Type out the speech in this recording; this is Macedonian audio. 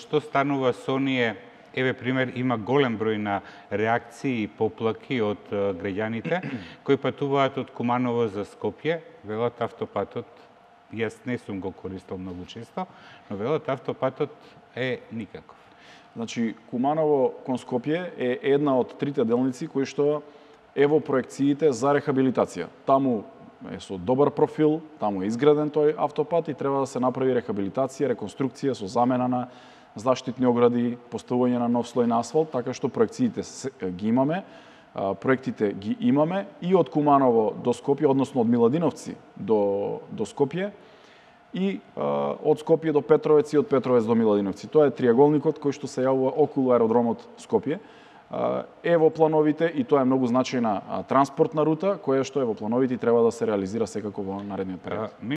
Што станува со оние, еве пример, има голем број на реакции и поплаки од граѓаните кои патуваат од Куманово за Скопје, велат автопатот, јас не сум го користел многу често, но велат автопатот е никаков. Значи, Куманово кон Скопје е една од трите делници кои што е во проекциите за рехабилитација. Таму е со добар профил, таму е изграден тој автопат и треба да се направи рехабилитација, реконструкција со замена на заштитни огради, поставување на нов слој на асфалт, така што проекциите ги имаме, проектите ги имаме и од Куманово до Скопје, односно од Миладиновци до Скопје, и од Скопје до Петровец и од Петровец до Миладиновци. Тоа е триаголникот кој што се јавува околу аеродромот Скопје. Е во плановите и тоа е многу значајна транспортна рута, која што е во плановите и треба да се реализира секако во наредниот период.